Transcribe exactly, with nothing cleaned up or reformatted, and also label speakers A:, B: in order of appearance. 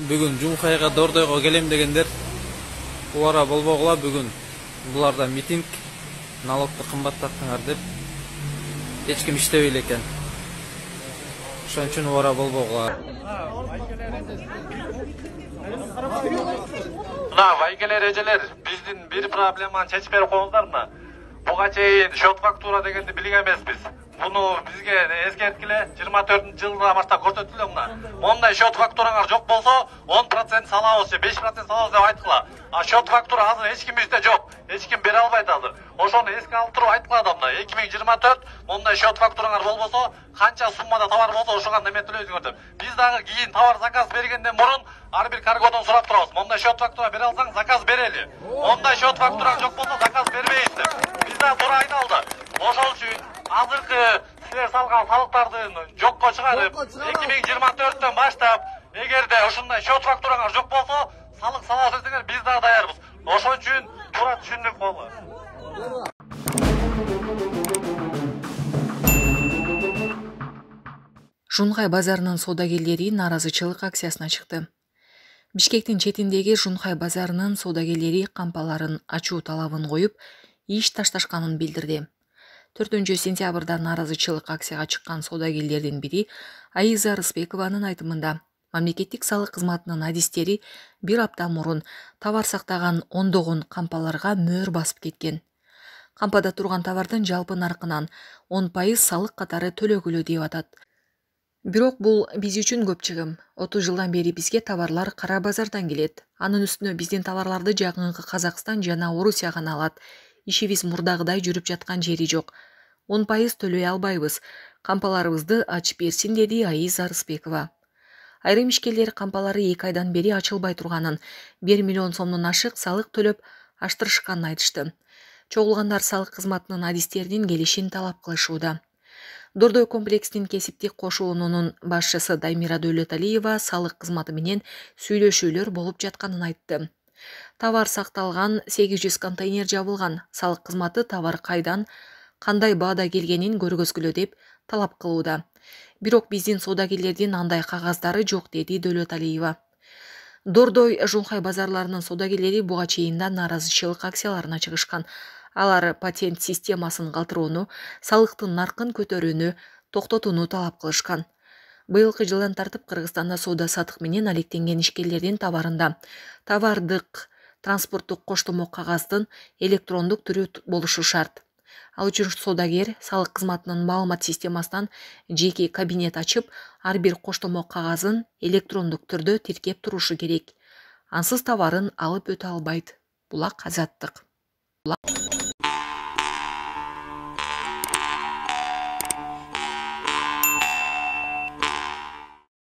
A: Бүгүн Жунхайга Дордойго келем дегендер убара болбогула. Бүгүн буларда митинг, налогду кымбаттаттыңар деп эч ким иштебей элекен. Ошон үчүн убара болбогула.
B: Мына байгелер, эжелер, биздин бир проблеманы чечип берип коюңуздармы? Буга чейин счет фактура дегенди билген эмеспиз. Буну бизге эскерткиле, жыйырма төртүнчү жылдан баштап көрсөтүлө мына. Мондай счет фактураңар жок болсо, он процент салабыз же беш процент салабыз деп айткыла. А счет фактура азыр эч кимибизде жок. Эч ким бере албайт азыр. Ошону эске алып туруп айткыла да мына эки миң жыйырма төрт мондай счет фактураңар болбосо, канча суммада товар болсо ошого неметелөйсүңөр деп. Биз дагы кийин товар заказ бергенден мурун ар бир каргодон сурап турабыз. Мондай счет фактура бере алсаң, заказ берели. Мондай счет фактураң жок болсо, заказ бербейбиз деп. Биз дагы туура айналды. Ошол үчүн азыркы силер салган салыктардын жокко чыгарып, эки миң жыйырма төрттөн баштап, эгерде ушундай счет фактураңар жок болсо, салык салабыз десеңер, биз дагы даярбыз. Ошон үчүн туура түшүндүк болду.
C: Жунхай базарынын соодагерлери нааразычылык акциясына чыкты. Бишкектин четиндеги Жунхай базарынын соодагерлери кампаларын ачуу талабын коюп, иш ташташканын билдирди. төртүнчү сентябрда нааразычылык акцияга чыккан соодагерлердин бири Айза Рыспекованын айтымында, мамлекеттик салык кызматынын адистери бир апта мурун товар сактаган ондогон кампаларга мөөр басып кеткен. Кампада турган товардын жалпы наркынан он пайыз салык катары төлөгүлө деп атат. Бирок бул биз үчүн көп чыгым. отуз жылдан бери бизге товарлар кара базардан келет. Анын үстүнө биздин товарларды жакынкы Казакстан жана Орусия гана алат. Ишибиз мурдагыдай жүрүп жаткан жери жок. он пайыз төлөй албайбыз. Кампаларыбызды ачып берсин, деди Айза Рыспекова. Айрым ишкерлер кампалары эки айдан бери ачылбай турганын, бир миллион сомдон ашык салык төлөп аштырышканын айтышты. Чогулгандар салык кызматынын адистеринин келишин талап кылышууда. Дордой комплекстин кесиптик кошуунунун башчысы Даймира Дөөлөталиева салык кызматы менен сүйлөшүүлөр болуп жатканын айтты. Товар сакталган, сегиз жүз контейнер жабылган. Салык кызматы товар кайдан, кандай баада келгенин көргөзгүлө деп талап кылууда. Бирок биздин соодагерлердин андай кагаздары жок, деди Дөөлөталиева. Дордой Жунхай базарларынын соодагерлери буга чейин да нааразычылык акцияларына чыгышкан. Алар патент системасын калтырууну, салыктын наркын көтөрүүнү токтотууну талап кылышкан. Быйылкы жылдан тартып Кыргызстанда соода сатык менен алектенген ишкерлердин товарында товардык транспорттук коштомо кагаздын электрондук түрү болушу шарт. Ал үчүн соодагер салык кызматынын маалымат системасынан жеке кабинет ачып, ар бир коштомо кагазын электрондук түрдө тиркеп турушу керек. Ансыз товарын алып өтө албайт. Булак Азаттык.